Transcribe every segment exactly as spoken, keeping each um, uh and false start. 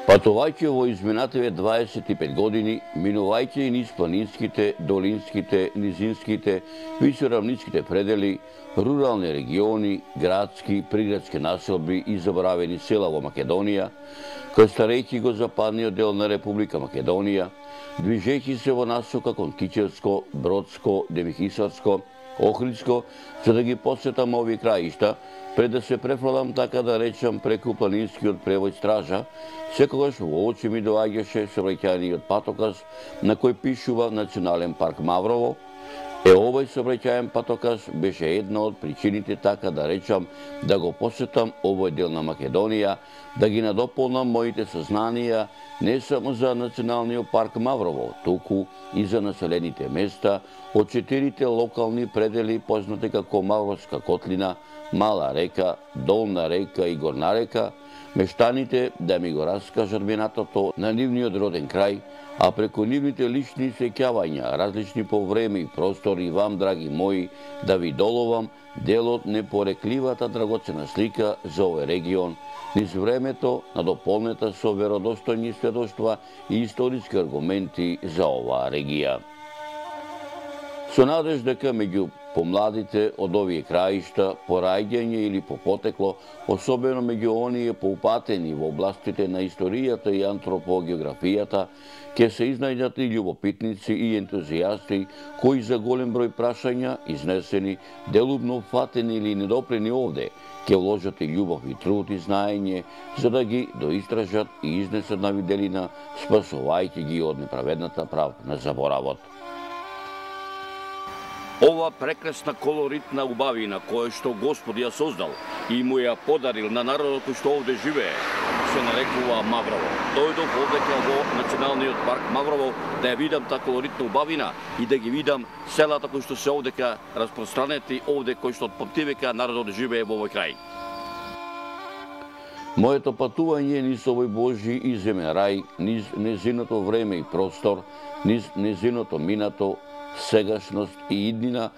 Патувајќи во изминативе дваесет и пет години, минувајќи и низ планинските, долинските, низинските, висоравнинските предели, рурални региони, градски, приградски населби и заборавени села во Македонија, крстарејќи го западниот дел на Република Македонија, движејќи се во насока кон Кичевско, Бродско, Демихисарско, Охридско, за да ги посетам овие краишта, пред да се префрлам, така да речам, преку планинскиот превој стража, секогаш во очи ми доаѓаше сообраќајниот патоказ на кој пишува Национален парк Маврово. Е, овој сообраќајен патоказ беше една од причините, така да речам, да го посетам овој дел на Македонија, да ги надополнам моите сознанија не само за Националниот парк Маврово, туку и за населените места од четирите локални предели познати како Мавровска котлина, Мала река, Долна река и Горна река, мештаните да ми го раскажат минатото на нивниот роден крај, а преку нивните лични сеќавања, различни по време и простор, и вам, драги мои, да ви доловам делот непорекливата драгоцена слика за овој регион, низ времето надополнета со веродостојни сведоштва и историски аргументи за оваа регија. Со надеж дека меѓу помладите од овие краишта, по раѓање или по потекло, особено меѓу оние поупатени во областите на историјата и антропогеографијата, ќе се изнајдат и љубопитници и ентузијасти кои за голем број прашања, изнесени, делумно фатени или недопрени овде, ќе вложат и љубов и труд и знаење, за да ги доистражат и изнесат на виделина, спасувајќи ги од неправедната правда на заборавот. Ова прекрасна колоритна убавина која што Господ ја создал и му ја подарил на народот кој што овде живее, се нарекува Маврово. Дојдов овдека во Националниот парк Маврово да ја видам таа колоритна убавина и да ги видам селата кои што се овдека распространети, овде кои што од памтивека народот живее во овој крај. Моето патување низ овој Божи и земен рај, низ незиното време и простор, низ незиното минато, сегашност и иднина,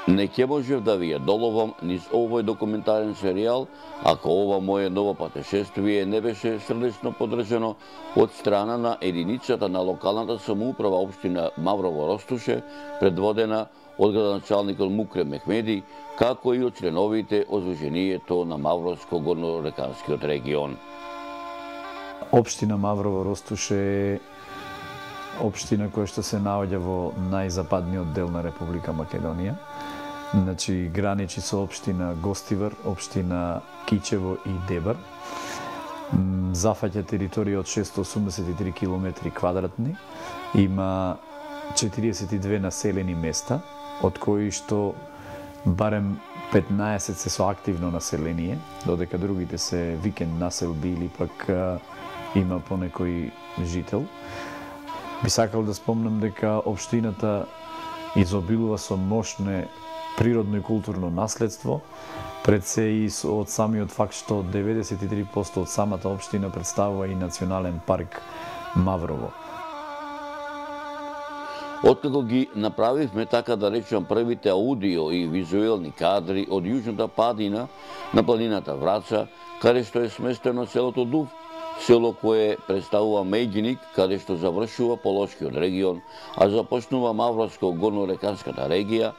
не ќе можев да ви ја доловам низ овој документарен серијал, ако ова мое ново патешествие не беше срдечно подржано од страна на единицата на локалната самоуправа општина Маврово-Ростуше, предводена од градоначалникот Мукрем Мехмеди, како и од членовите од Сдруженијето на Мавровско-горнореканскиот регион. Општина Маврово-Ростуше е општина која што се наоѓа во најзападниот дел на Република Македонија. Значи, граничи со општина Гостивар, општина Кичево и Дебар. Зафаќа територија од шестоста осумдесет и три километри квадратни. Има четириесет и две населени места, од кои што барем петнаесет се со активно население, додека другите се викенд населби или пак има понекој жител. Би сакал да спомнам дека општината изобилува со мощно природно и културно наследство, пред се и од самиот факт што деветдесет и три проценти од самата општина представува и Национален парк Маврово. Откако ги направивме, така да речам, првите аудио и визуелни кадри од јужната падина на планината Враца, каде што е сместено селото Дув, село кое представува меѓиник, каде што завршува Полошкиот регион, а започнува Мавровско-горнореканската регија,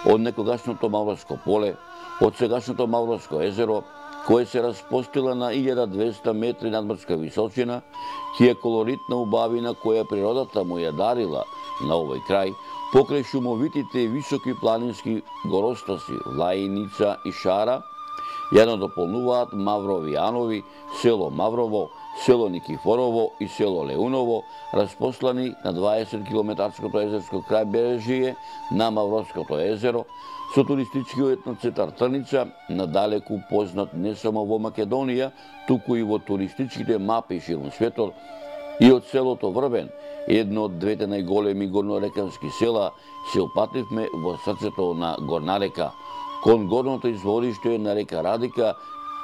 од некогашното Мавровско поле, од сегашното Мавровско езеро, кое се распостила на илјада двесте метри надморска височина, тие колоритна убавина која природата му ја дарила на овој крај, покрај шумовитите и високи планински горостаси Влаиница и Шара, ја надополнуваат Маврови Анови, село Маврово, село Никифорово и село Леуново, распослани на дваесет километарското езерско крајбрежје на Мавровското езеро, со туристичкиот етноцентар Трница, надалеку познат не само во Македонија, туку и во туристичките мапи ширум светот, и од селото Врбен, едно од двете најголеми горнорекански села, се опативме во срцето на Горна река, кон горното извориште на река Радика,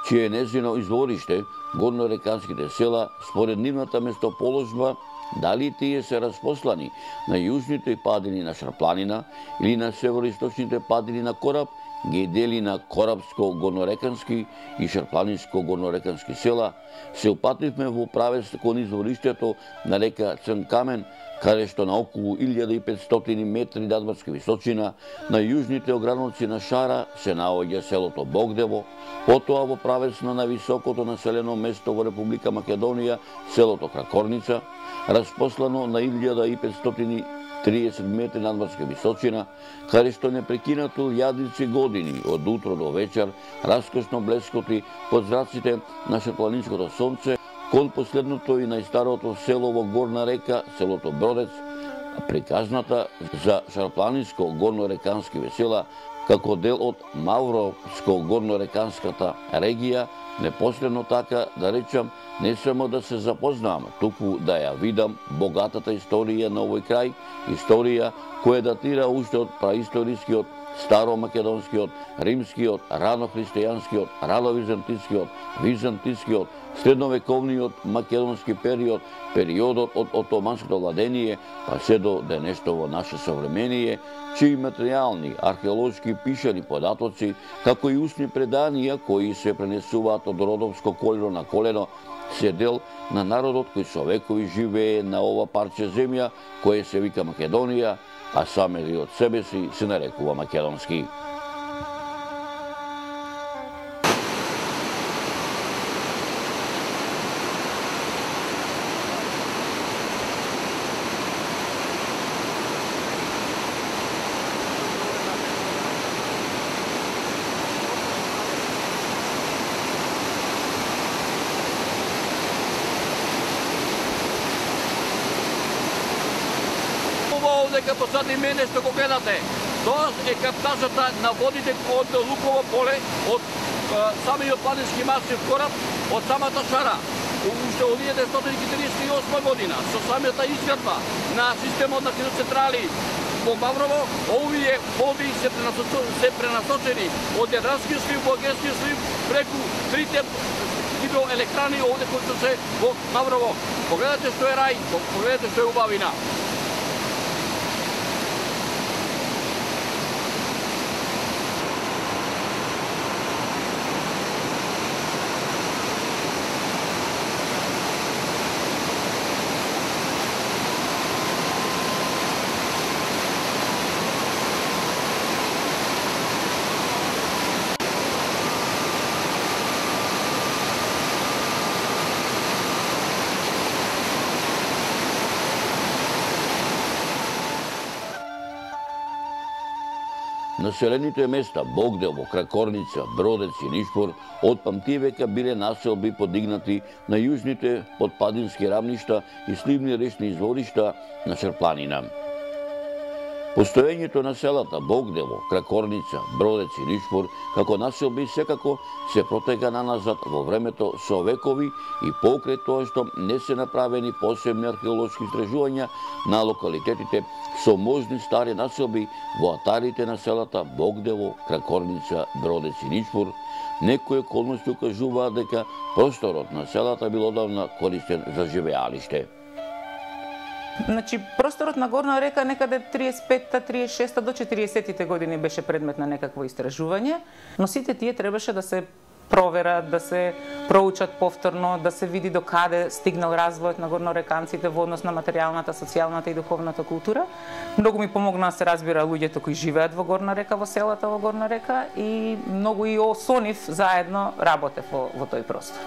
чие незино извориште, горнореканските села, според нивната местоположба, дали тие се распослани на јужните падини на Шарпланина или на североисточните падини на Кораб, ги дели на Корабско-горнорекански и Шарпланинско-горнорекански села, се упативме во правец кон извориштето на река Црнкамен, каде што на околу илјада и петстотини метри надморска височина на јужните ограници на Шара се наоѓа селото Богдево, потоа во правец на највисокото населено место во Република Македонија, селото Кракорница, распослано на илјада и петстотини и триесет метри надморска височина, каде што непрекинато илјадици години од утро до вечер раскошно блескоти под зраците на шарпланинското сонце кон последното и најстарото село во Горна река, селото Бродец, приказната за Шарпланинско-горнорекански весела како дел од Мавровско-горнореканската регија, непосредно така да речам, не само да се запознам, туку да ја видам богатата историја на овој крај, историја која датира уште од праисторискиот, старомакедонскиот, римскиот, ранохристијанскиот, рано-византискиот, византискиот, средновековниот македонски период, периодот од отоманското владение, па се до денешново наше современие, чии материјални, археолошки пишани податоци, како и устни преданија кои се пренесуваат од родовско колено на колено, се дел на народот кој со векови живее на ова парче земја, кое се вика Македонија, а самиот од себе си се нарекува македонски. Дека посади мене што го гледате, тоа е каптажата на водите од Луково поле, од самиот планински масив кораб, од самата Шара. Уште од илјада деветстотини триесет и осма година, со самата изградба на системот на хидроцентрали во Маврово, овие води се пренасочени од Јадранскиот слив во Егејскиот слив преку трите хидроелектрани овде кои се во Маврово. Погледате што е рај, погледате што е убавина. Населените места Богдево, Кракорница, Бродец и Нишпор од памтивека биле населби подигнати на јужните подпадински рамништа и сливни речни изворишта на Шарпланина. Постоењето на селата Богдево, Кракорница, Бродец и Нишпор како населби секако се протега наназад во времето со векови и покрај тоа што не се направени посебни археолошки истражувања на локалитетите со можни стари населби во атарите на селата Богдево, Кракорница, Бродец и Нишпор, некои околности укажуваат дека просторот на селата бил одавна користен за живеалиште. Значи, просторот на Горна река некаде триесет и петта, триесет и шеста до четиридесеттите години беше предмет на некакво истражување, но сите тие требаше да се проверат, да се проучат повторно, да се види до каде стигнал развојот на горнореканците во однос на материјалната, социјалната и духовната култура. Многу ми помогна да се разбира луѓето кои живеат во Горна река, во селата во Горна река, и многу и со нив заедно работев во, во тој простор.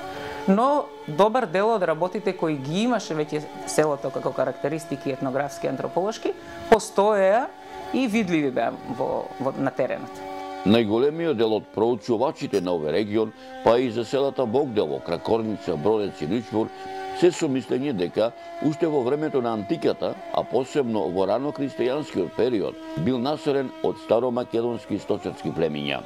Но добар дел од работите кои ги имаше веќе селото како карактеристики етнографски, антрополошки, постоеа и видливи беа во, во, на теренот. Најголемиот дел од проучувачите на овој регион, па и за селата Богдево, Кракорница, Бродец и Нишпор, се со мислење дека уште во времето на антиката, а посебно во рано-христијанскиот период, бил населен од старомакедонски сточарски племиња.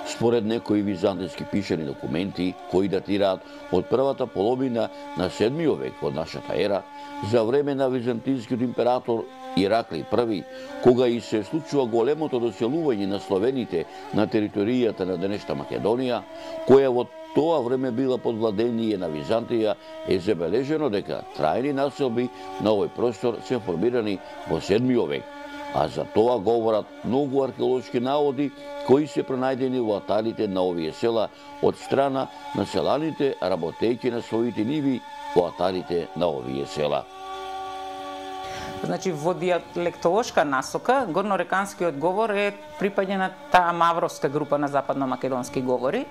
Според некои византиски пишани документи, кои датираат од првата половина на седмиот век од нашата ера, за време на византискиот император Ираклий први, кога и се случува големото доселување на словените на територијата на денешна Македонија, која во тоа време била под владение на Византија, е забележено дека трајни населби на овој простор се формирани во седмиот век, а за тоа говорат многу археолошки наоди кои се пронајдени во атарите на овие села од страна на селаните работејќи на своите ниви во атарите на овие села. Значи, во дијалектолошка насока, горнореканскиот говор е припаѓа на таа мавровска група на западно-македонски говори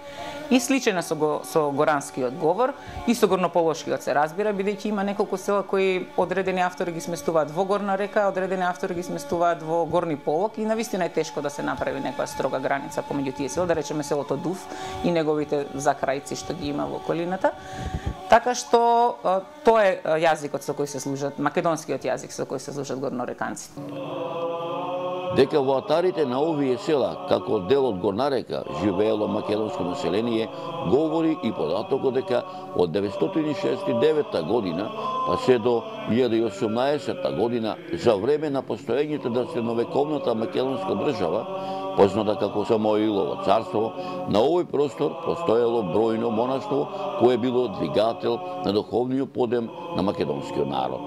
и сличен со, го, со горанскиот говор и со горнополошкиот се разбира, бидејќи има неколку села кои одредени автори ги сместуваат во Горна река, одредени автори ги сместуваат во Горни полог и навистина е тешко да се направи некоја строга граница помеѓу тие села, да речеме селото Дув и неговите закрајци што ги има во околината. Така што тоа е јазикот со кој се служат, македонскиот јазик со кој се служат горнореканците. Дека во атарите на овие села, како дел од Горна река, живеело македонско население, говори и податокот дека од деветстотини и шеесет и девета година па се до илјада и осумнаесетта година, за време на постоењето на средновековната македонска држава, позната како Самоилово царство, на овој простор постоело бројно монаштво кое било двигател на духовниот подем на македонскиот народ.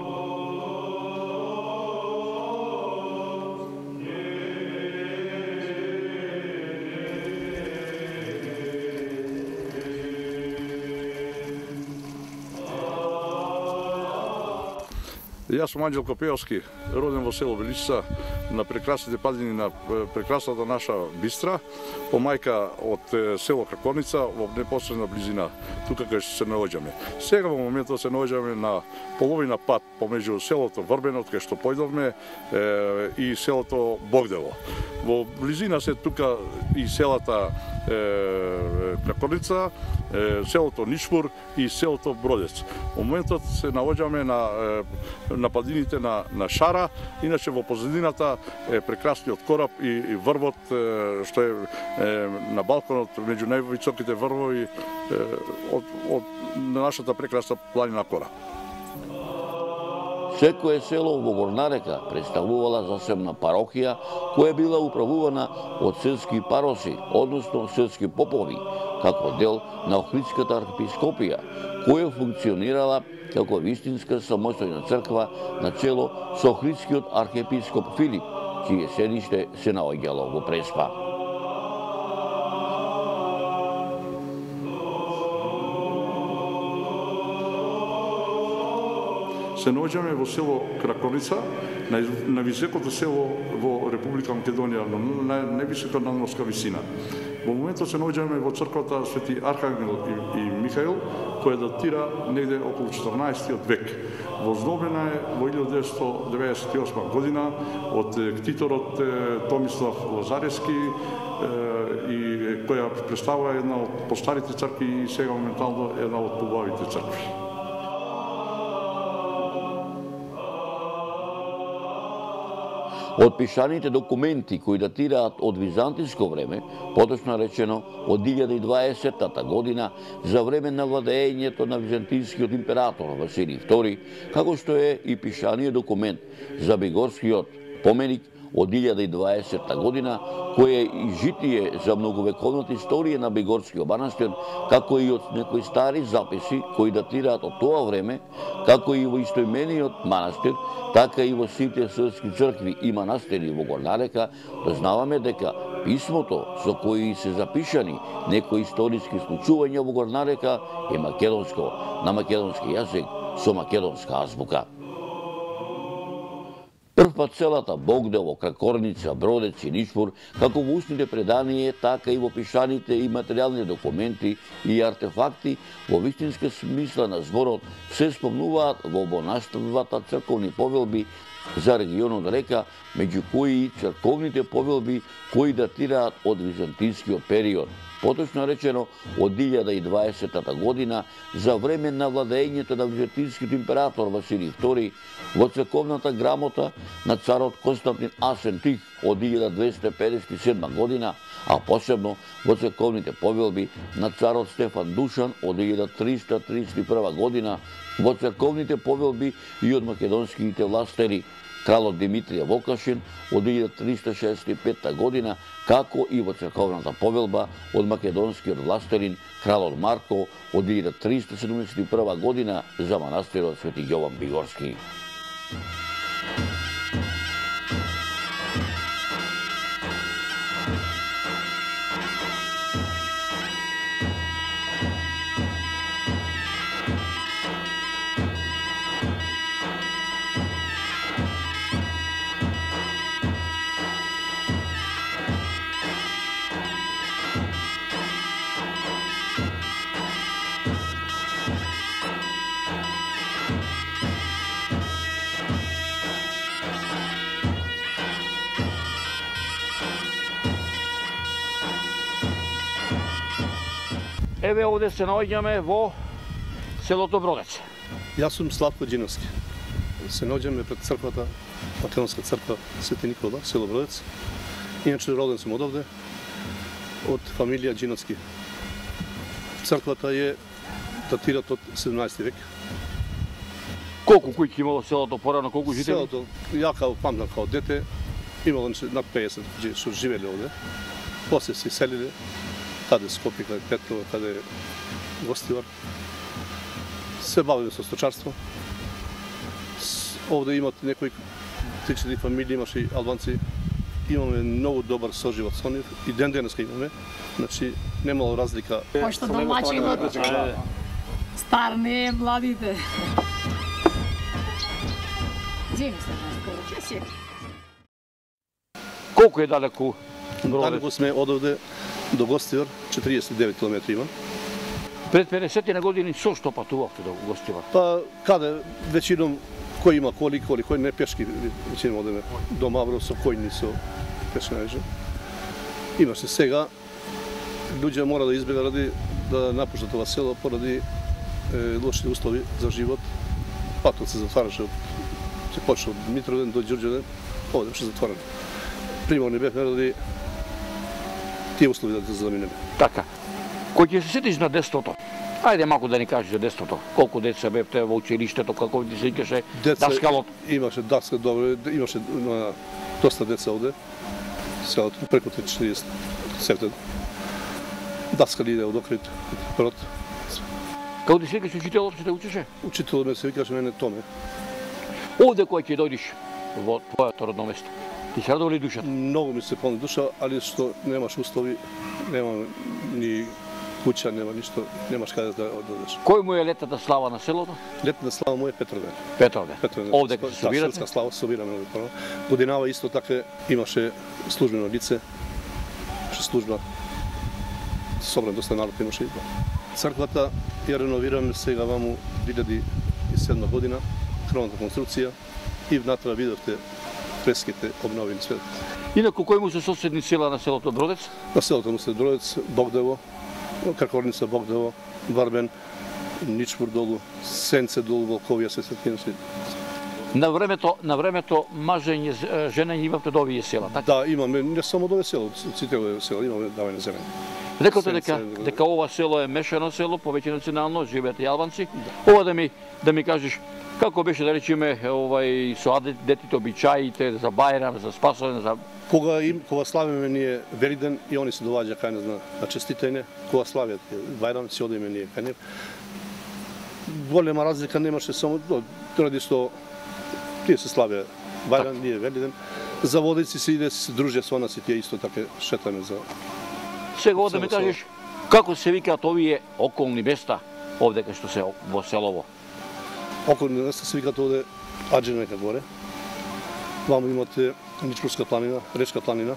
Јас сум Анđел Копеовски, роден во село Величица, на прекрасните падини на прекрасната наша Бистра, по мајка од село Кракорница во непосредна близина тука кај што се наоѓаме. Сега во моментот се наоѓаме на половина пат помеѓу селото Врбенот кај што појдовме и селото Богдело. Во близина се тука и селата Кракорница, селото Нишпур и селото Бродец. Во моментот се наоѓаме на на падините на, на Шара, иначе во позадината е прекрасниот кораб и, и врвот што е, е на балконот меѓу највисоките врвови е, од, од нашата прекрасна планина Кора. Секое село во Горна река представувала засебна парохија која била управувана од селски пароси, односно селски попови, како дел на Охридската архиепископија, која функционирала како вистинска самостојна црква на чело со Охридскиот архиепископ Филип, чие седиште се наоѓало во Преспа. Се наоѓаме во село Кракорница, на високото село во Република Македонија, на највисока надморска висина. Во моментот се наоѓаме во црквата Свети Архангел и, и Михаил, која датира негде околу четрнаесеттиот век. Воздобена е во илјада деветстотини деветдесет и осма година од ктиторот Томислав Лазарески и која представува една од постарите цркви и сега моментално една од побавите цркви. Од пишаните документи кои датираат од византиско време, поточно речено од илјада и дваесетта година, за време на владеењето на византискиот император Василий втори, како што е и пишаниот документ за Бигорскиот поменик од илјада и дваесетта година, кој е и житие за многовековната историја на Бигорскиот манастир, како и од некои стари записи кои датираат од тоа време, како и во истоимениот манастир, така и во сите српски цркви и манастири во Горна река, дознаваме дека писмото со кои се запишани некои историски случувања во Горна река е македонско, на македонски јазик, со македонска азбука. Првпат селата Богдело, Кракорница, Бродец и Нишпур, како во устните преданија, така и во пишаните и материјални документи и артефакти, во вистинска смисла на зборот, се спомнуваат во обонаштвата црковни повелби за регионот река, меѓу кои и црковните повелби кои датираат од византискиот период. Поточно речено, од илјада и дваесетта година, за време на владеењето на византискиот император Василий втори, во црковната грамота на царот Константин Асен Тих од илјада двесте педесет и седма година, а посебно во црковните повелби на царот Стефан Душан од илјада триста тридесет и прва година, во црковните повелби и од македонските властери, кралот Димитрија Вокашин од илјада триста шеесет и петта година, како и во црковната повелба од македонскиот властерин кралот Марко од илјада триста седумдесет и прва година за манастирот Свети Јован Бигорски. Еве овде се наоѓаме во селото Бродец. Јас сум Славко Џиновски. Се наоѓаме пред црквата, Македонска црква Свети Никола, село Бродец. Иначе роден сум одовде, од фамилија Џиновски. Црквата е датират од седумнаесети век. Колку куќи имало селото порано, колку жители? Селото, ја као памтам као дете, имало над пеесет што живеле овде. После се селиле, каде Скопје, каде Петрова, каде Гостивар. Се бавиме со сточарство. Овде имат некои три-четири фамилии, имаше и албанци. Имаме многу добар соживот со нив и ден денеска имаме. Значи немало разлика. Пошто домаќинот стар не е младите. Земи се наскоро, ќе Колку е далеку Бродец? Далеку сме од овде до Гостивар, четириесет и девет километри има. Пред педесет на години со што патувавте до Гостивар? Па каде веćinom кој има коли, коли кој не пешки, веćinom одеме до Мавро со којни со пешки најже. Имаше сега луѓе мора да избегат ради да напуштат ова село поради е, лоши услови за живот. Патот се затвараше, се почна од Митроден до Ѓурѓевден, овде беше затворен. Приморни бевме ради тие услови да се заминеме. Така. Кој ќе се сетиш на детството? Ајде малку да ни кажеш за детството. Колку деца бевте во училиштето, како ти се викаше даскалот? Имаше даскал, добро, имаше на, доста деца овде. Селото преку четириесет септен. Даскали иде од Охрид, прот. Како ти се викаш учителот, што те учеше? Учителот ме се викаше мене Томе. Овде кој ќе дојдеш во твоето родно место? Ти се радува ли душата? Многу ми се полни душа, али што немаш услови, нема ни куќа, нема ништо, немаш каде да одидеш. Кој му е летната слава на селото? Летната слава му е Петровден. Петровден. Петровден. Овде кога се собирате? Да, селска слава собираме овде прво. Годинава исто така имаше службено лице, имаше служба, собран доста народ имаше и црквата ја реновираме сега ваму две илјади и седма година, кровната конструкција и внатре видовте фреските обновени свет. Инаку кој му се соседни села на селото Бродец? На селото му се Бродец, Богдево, Кракорница, Богдево, Варбен, Ничпур долу, Сенце долу, Волковија, се сетиме се. На времето, на времето мажење, женење имавте до овие села, така? Да, имаме не само до овие села, сите овие села имаме давање зелени. Рекате дека дека ова село е мешано село, повеќе национално, живеат и албанци. Ова да ми да ми кажеш како беше да речеме овај со детите обичаите за Бајрам, за Спасовен, за Кога им кога славиме ние Велиден и они се доваѓа кај нас на, на честитање, кога славиат Бајрам се одиме ние кај нив. Голема разлика немаше само ради што тие се славија Бајрам, ние Велиден. За водици се иде се дружи со нас и тие исто така шетаме за. Сега оде ми кажеш како се викаат овие околни места овде кај што се во селово? Околни места се викаат овде Аџенека горе. Ваму имате Ничпурска планина, Речка планина.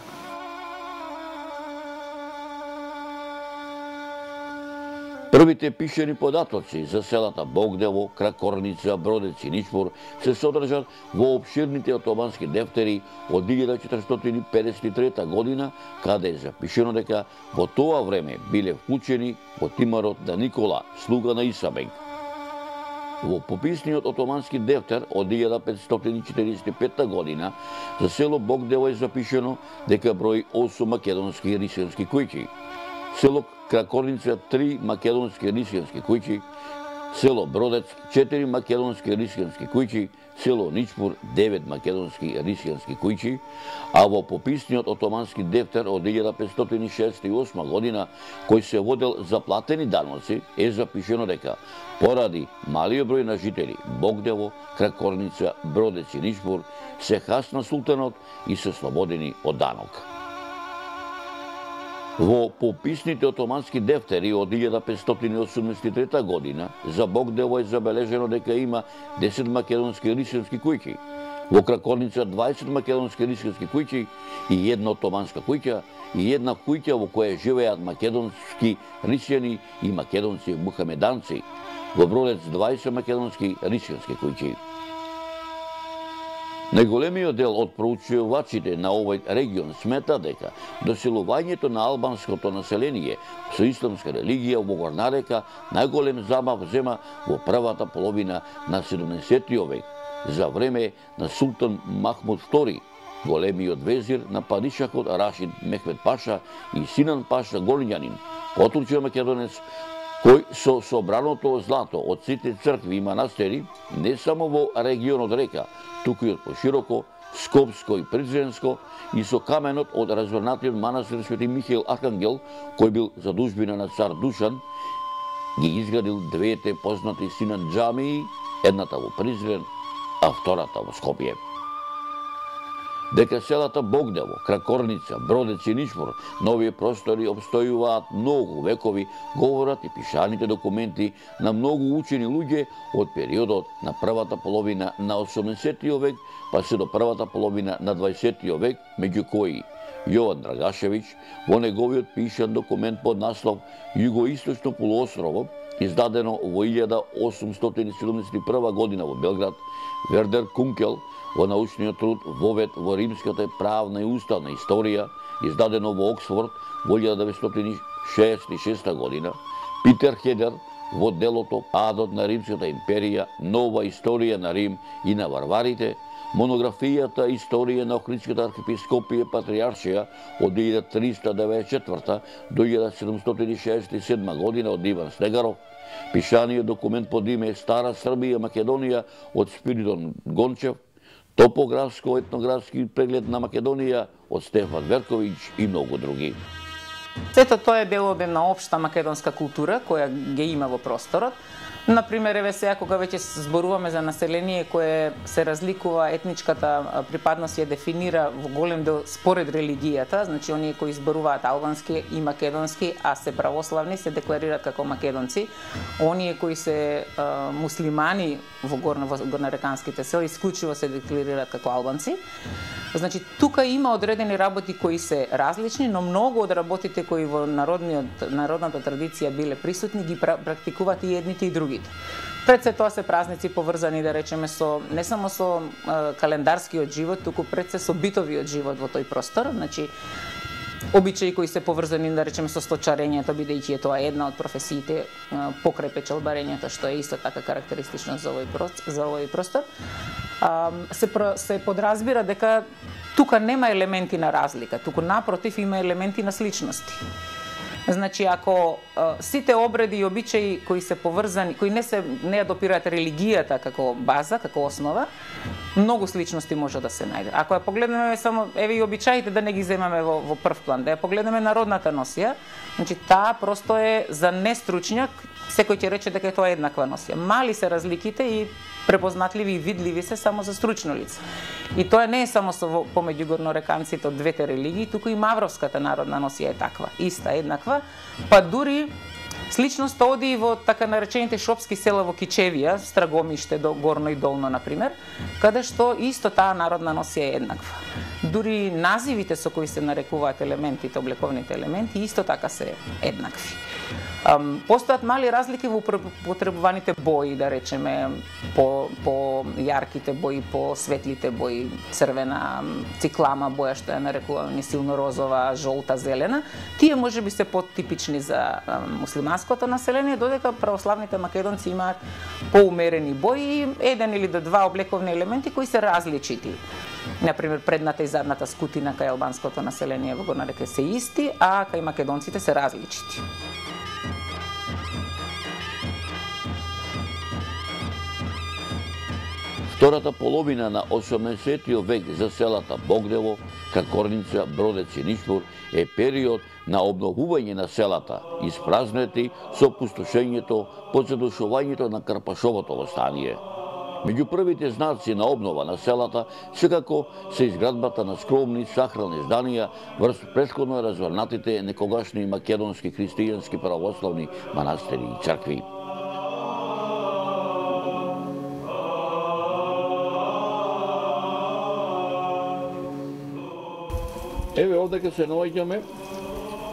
Првите пишени податоци за селата Богдево, Кракорница, Бродец и Ничпур се содржат во опширните отомански дефтери од илјада четиристотини педесет и трета година, каде е запишено дека во тоа време биле вклучени во тимарот на Никола, слуга на Исабек. Во пописниот отомански дефтер од илјада петстотини четиридесет и пета година за село Богдево е запишено дека брои осум македонски рисијански куќи, село Кракорница три македонски рисијански куќи, село Бродец четири македонски рисијански куќи, село Ничпур девет македонски рисијански куќи, а во пописниот отомански дефтер од илјада петстотини шеесет и осма година, кој се водел за платени даноци, е запишено дека поради малиот број на жители Богдево, Кракорница, Бродец и Ничпур се хасна султанот и се слободени од данок. Во пописните отомански дефтери од илјада петстотини осумдесет и трета година за Богдево е забележено дека има десет македонски рисијански куќи, во Кракорница дваесет македонски рисијански куќи и една отоманска куќа и една куќа во која живеат македонски рисијани и македонци мухамеданци, во Бродец дваесет македонски рисијански куќи. Најголемиот дел од проучувачите на овој регион смета дека доселувањето на албанското население со исламска религија во Горна река најголем замав зема во првата половина на седумдесеттиот век, за време на султан Махмуд втори, големиот везир на падишахот Рашид Мехмед Паша и Синан Паша Голињанин, потурчен македонец, кој со собраното злато од сите цркви и манастери, не само во регионот река, туку и од пошироко, Скопско и Призренско, и со каменот од развернатиот манастир Свети Михаил Архангел, кој бил задужбина на цар Душан, ги изградил двете познати Синан џамии, едната во Призрен, а втората во Скопје. Дека селата Богдево, Кракорница, Бродец и Нишмор на овие простори обстојуваат многу векови, говорат и пишаните документи на многу учени луѓе од периодот на првата половина на осумдесеттиот век, па се до првата половина на дваесеттиот век, меѓу кои Јован Драгашевиќ во неговиот пишан документ под наслов Југоисточно полуострово, издадено во илјада осумстотини седумдесет и прва година во Белград, Вердер Кункел во научниот труд Вовед во римската правна и уставна историја, издадено во Оксфорд во илјада деветстотини шеесет и шеста година, Питер Хедер во делото Падот на Римската империја, нова историја на Рим и на варварите, монографијата Историја на Охридската архиепископија Патриаршија од илјада триста деветдесет и четврта до илјада седумстотини шеесет и седма година од Иван Снегаров, пишаниот документ под име Стара Србија Македонија од Спиридон Гончев, топографско-етнографски преглед на Македонија од Стефан Верковиќ и многу други. Сето тоа е делови на општа македонска култура која ги има во просторот. Например, еве сега кога веќе зборуваме за население кое се разликува, етничката припадност ја дефинира во голем дел според религијата, значи оние кои зборуваат албански и македонски, а се православни, се декларираат како македонци. Оние кои се а, муслимани во горно во горнореканските села исклучиво се декларираат како албанци. Значи тука има одредени работи кои се различни, но многу од работите кои во народниот народната традиција биле присутни ги практикуваат и едните и другите. Пред се тоа се празници поврзани, да речеме, со не само со е, календарскиот живот, туку пред се со битовиот живот во тој простор, значи обичаи кои се поврзани, да речеме, со сточарењето, бидејќи е тоа една од професиите, покрај печалбарењето, што е исто така карактеристично за овој простор, за овој простор. А, се се подразбира дека тука нема елементи на разлика, туку напротив има елементи на сличности. Значи, ако а, сите обреди и обичаи кои се поврзани, кои не се не ја допираат религијата како база, како основа, многу сличности може да се најде. Ако ја погледнеме само еве и обичаите, да не ги земаме во, во прв план, да ја погледнеме народната носија, значи таа просто е за нестручњак, секој ќе рече дека е тоа еднаква носија. Мали се разликите и препознатливи и видливи се само за стручно лице. И тоа не е само со помеѓу горнореканците од двете религии, туку и мавровската народна носија е таква, иста, еднаква, па дури сличноста оди и во така наречените шопски села во Кичевија, Страгомиште, до Горно и Долно, например, каде што исто таа народна носија е еднаква. Дури називите со кои се нарекуваат елементите, облековните елементи, исто така се еднакви. Um, постојат мали разлики во потребуваните бои, да речеме, по, по јарките бои, по светлите бои, црвена, циклама боја, што ја нарекуваме силно розова, жолта, зелена. Тие може би се потипични за um, муслиманското население, додека православните македонци имаат поумерени бои и еден или до два облековни елементи кои се различити. Например, предната и задната скутина кај албанското население во Горна река се исти, а кај македонците се различити. Втората половина на осумдесеттиот век за селата Богдево, Кракорница, Бродец и Нишмор е период на обновување на селата, испразнети со пустошењето под задушувањето на Карпашовото восстание. Меѓу првите знаци на обнова на селата секако се изградбата на скромни сахрални зданија врз претходно развернатите некогашни македонски христијански православни манастири и цркви. Еве овде ке се наоѓаме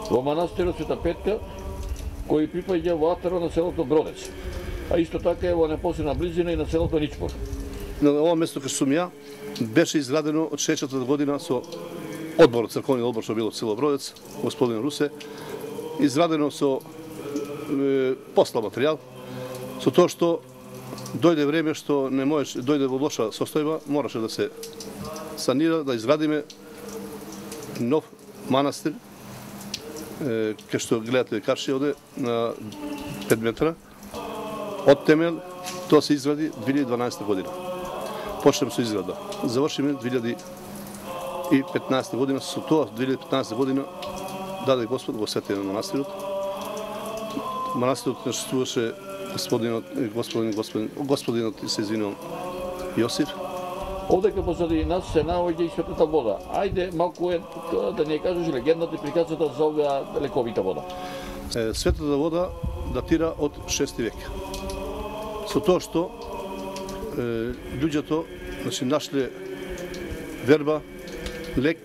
во манастирот Света Петка, кој припаѓа во атарот на селото Бродец, а исто така е во непосредна близина и на селото Ничмор. на ова место кај сум ја, беше изградено од шеесеттата година со одборот, црковниот одбор што било село Бродец, господин Русе, изградено со е, послаб материјал, со тоа што дојде време што не можеш, дојде во лоша состојба, мораше да се санира, да изградиме нов манастир, е, кај што гледате карши оде на пет метра, од темел, тоа се изгради две илјади и дванаесета година. Почнем со изграда. Завршиме две илјади и петнаесета година, со тоа две илјади и петнаесета година даде Господ го свети на манастирот. Манастирот наштуваше господинот, господин, господин, господинот, се извинувам, Јосиф. Овде кај позади нас се наоѓа и светата вода. Ајде малку е да ни кажеш легендата и приказната за оваа лековита вода. Светата вода датира од шести век. Со тоа што е, луѓето значи, нашле верба, лек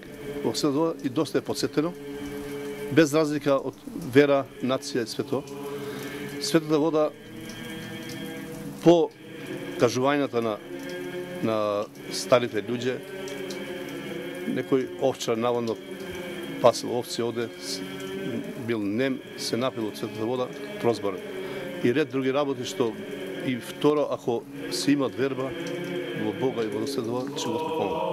во светата вода и доста е подсетено, без разлика од вера, нација и свето. Светата вода по кажувањата на на старите луѓе, некој овчар наводно пасел овци оде, бил нем, се напил од светата вода, прозборен. И ред други работи што и второ, ако се имат верба во Бога и во светата вода, ќе го помогне.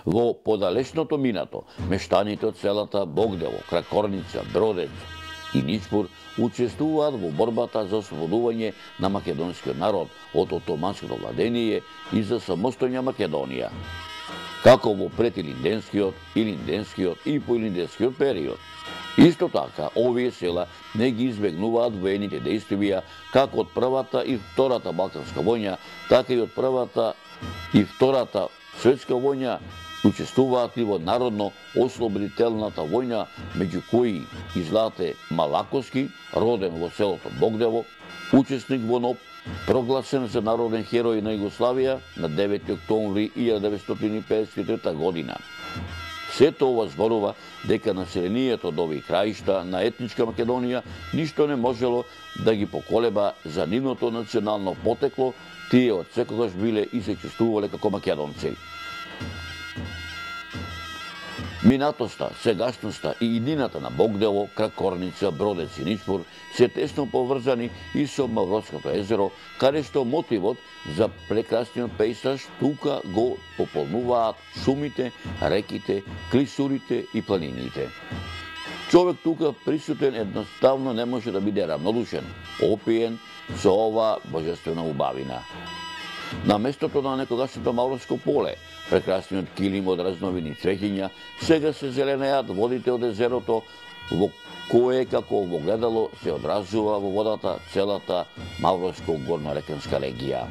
Во подалечното минато, мештаните од селата Богдело, Кракорница, Бродец и Ничпур учествуваат во борбата за ослободување на македонскиот народ од отоманското владение и за самостојна Македонија. Како во претилинденскиот, илинденскиот и поилинденскиот период. Исто така, овие села не ги избегнуваат воените действија како од првата и втората Балканска војна, така и од првата и втората светска војна. Учествуваат и во народно-ослободителната војна, меѓу кои и Злате Малаковски, роден во селото Богдево, учесник во НОБ, прогласен за народен херој на Југославија на девети октомври илјада деветстотини и педесет и трета година. Сето ова зборува дека населението од овие краишта на етничка Македонија ништо не можело да ги поколеба за нивното национално потекло, тие од секогаш биле и се чувствувале како македонци. Минатоста, сегашноста и иднината на Богдело, Кракорница, Бродец и Ничпур се тесно поврзани и со Мавротското езеро, каде што мотивот за прекрасниот пејзаж тука го пополнуваат шумите, реките, клисурите и планините. Човек тука присутен едноставно не може да биде равнодушен, опиен со ова божествена убавина. На местото на некогашното Мавровско поле, прекрасниот килим од разновидни цвеќиња, сега се зеленеат водите од езерото, во кое како во гледало се одразува во водата целата Мавровско-горнореканска регија.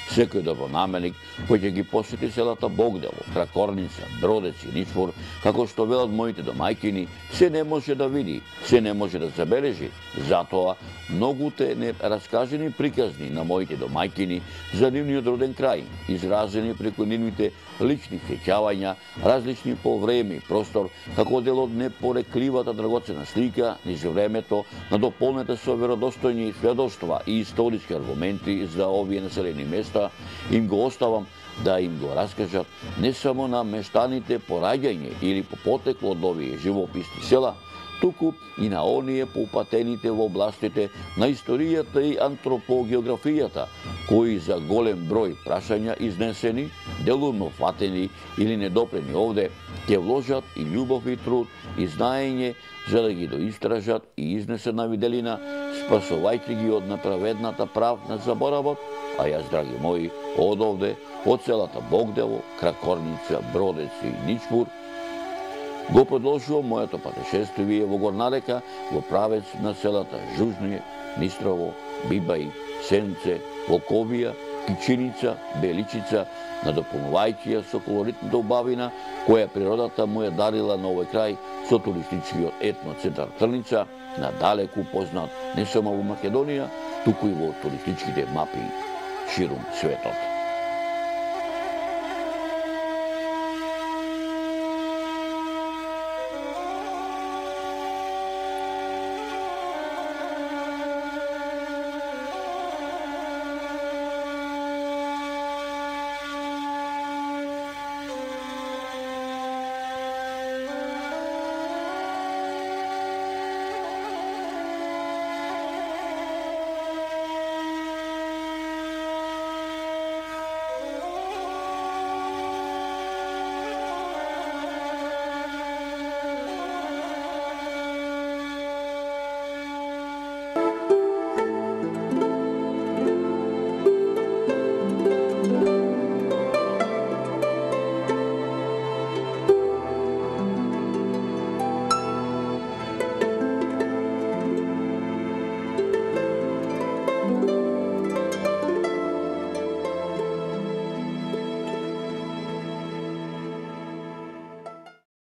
Секој добронаменик кој ќе ги посети селата Богдело, Кракорница, Бродец и Ничпур, како што велат моите домајкини, се не може да види, се не може да забележи. Затоа многуте нераскажени приказни на моите домајкини за нивниот роден крај, изразени преку нивните лични сеќавања, различни по време и простор, како дел од непорекливата драгоцена слика низ времето, надополнета со веродостојни сведоштва и историски аргументи за овие населени места, им го оставам да им го раскажат не само на мештаните по раѓање или по потекло од овие живописни села, туку и на оние поупатените во областите на историјата и антропогеографијата, кои за голем број прашања изнесени, делумно фатени или недопрени овде, ќе вложат и љубов и труд и знаење за да ги доистражат и изнесат на виделина, спасувајќи ги од неправедната прав на заборавот, а јас, драги мои, од овде, од селата Богдело, Кракорница, Бродец и Ничпур, го продолжувам моето патешествие во горна река во правец на селата Жужние, Нистрово, Бибај, Сенце, Волковија, Кичиница, Беличица, надополнувајќи ја со колоритната убавина која природата му ја дарила на овој крај со туристичкиот етноцентар Трница, надалеку познат не само во Македонија, туку и во туристичките мапи ширум светот.